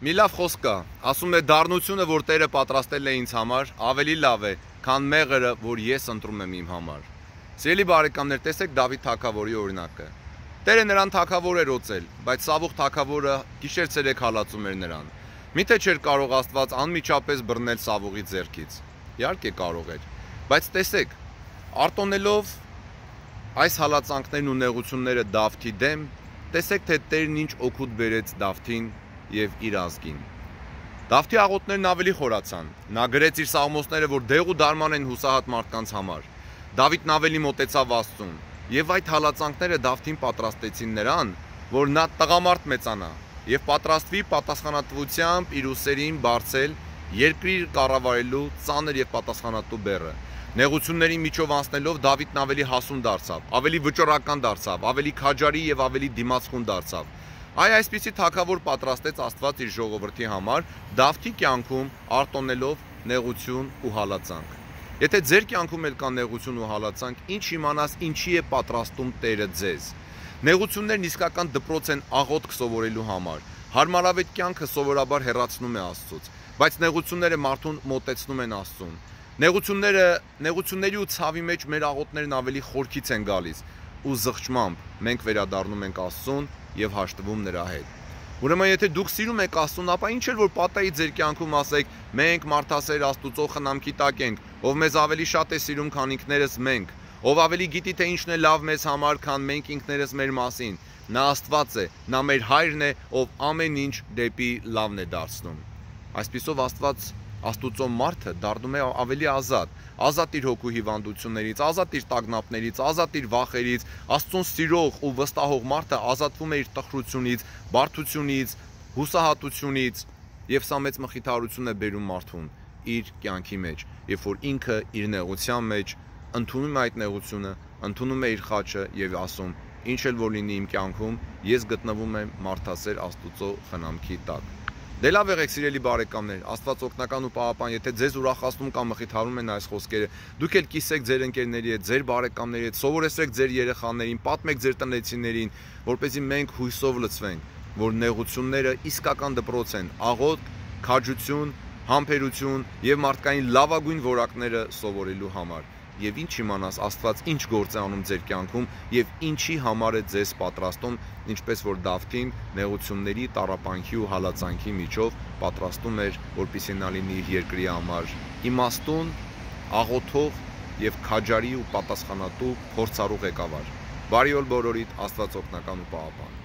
Մի լավ խոսք կա, ասում է դառնությունը, որ Տերը պատրաստել է ինձ համար, ավելի լավ է, քան մեղրը, որ ես ընտրում եմ իմ համար։ Սիրելի բարեկամներ, տեսեք Դավիթ թագավորի օրինակը։ Տերը նրան թագավոր էր օծել, բայց Սավուղ թագավորը գիշեր-ցերեկ հալածում էր նրան։ Միթե չէր կարող Աստված անմիջապես բռնել Սավուղի ձեռքից։ Իհարկե կարող էր, բայց տեսեք, արտոնելով այս հալածանքներն ու նեղությունները Դավթի դեմ, տեսեք թե Տերն ինչ օգուտ բերեց Դավթին եւ իր ազգին։ Դավթի աղոթներն ավելի խորացան։ Նա գրեց իր սաղմոսները, որ դեղ ու դարման են հուսահատ մարդկանց համար։ Դավիթն ավելի մոտեցավ Աստծուն, եւ այդ հալածանքները Դավթին պատրաստեցին նրան, որ նա տղամարդ մեծանա եւ պատրաստվի պատասխանատվությամբ իր ուսերին բարձել երկրի կառավարելու ծանր եւ պատասխանատու բեռը։ Նեղությունների միջով անցնելով Դավիթն ավելի հասուն դարձավ, ավելի վճռական դարձավ, ավելի քաջարի եւ ավելի դիմացկուն դարձավ։ Այսպիսի թագավոր պատրաստեց Աստված իր ժողովրդի համար Դավթի կյանքում արտոնելով նեղություն ու հալածանք։ Եթե ձեր կյանքում էլ կա նեղություն ու հալածանք, ինչ իմանաս ինչի է պատրաստում Տերը ձեզ։ Նեղություններն իսկական դպրոց են աղոթք սովորելու համար։ Հարմարավետ կյանքը սովորաբար հեռացնում է Աստծուց, բայց նեղությունները մարդուն մոտեցնում են Աստծուն։ Նեղությունների ու ցավի մեջ մեր աղոթներն ավելի խորքից են գալիս ու զղջմամբ մենք վերադառնում ենք Աստծուն եւ հաշտվում նրա հետ։ Ուրեմն եթե դուք սիրում եք Աստծուն, ապա ինչ էլ որ պատահի ձեր կյանքում ասեք, մենք մարդասեր Աստուծո խնամքի տակ ենք, ով մեզ ավելի շատ է սիրում, քան ինքներս մենք, ով ավելի գիտի թե ինչն է լավ մեզ համար, քան մենք ինքներս մեր մասին։ Նա Աստված է, նա մեր հայրն է, ով ամեն ինչ դեպի լավն է դարձնում։ Այսպիսով Աստուծո մարդը դառնում է ավելի ազատ իր հոգու հիվանդություններից, ազատ իր տագնապներից, ազատ իր վախերից, Աստծուն սիրող ու վստահող մարդը ազատվում է իր տխրությունից, բարդությունից, հուսահատությունից, եւ սա մեծ մխիթարություն է բերում մարդուն իր կյանքի մեջ, երբ որ ինքը իր նեղության մեջ ընդունում է այդ նեղությունը, ընդունում է իր խաչը եւ ասում. ինչ էլ որ լինի իմ կյանքում, ես գտնվում եմ մարդասեր Աստուծո խնամքի տակ։ Դե լավ եղեք սիրելի բարեկամներ, Աստված օգնական ու պահապան, եթե ձեզ ուրախացնում կամ մխիթարում են այս խոսքերը, դուք էլ կիսեք ձեր ընկերների հետ, ձեր բարեկամների հետ, սովորեցրեք ձեր երեխաներին, պատմեք ձեր տնեցիներին, որպեսզի մենք հույսով լցվենք, որ նեղությունները իսկական դպրոց են, աղոթք, քաջություն, համբերություն եւ մարդկային լավագույն որակները սովորելու համար։ Եվ ինչ իմանաս Աստված ինչ գործ է անում ձեր կյանքում եւ ինչի համար է ձեզ պատրաստում, ինչպես որ Դավթին նեղությունների, տառապանքի ու հալածանքի միջով պատրաստում էր, որպեսզի նա լինի իր երկրի համար իմաստուն, աղոթող եւ քաջարի ու պատասխանատու փորձառու ղեկավար։ Բարի օր բոլորիդ, Աստված օգնական ու պահապան։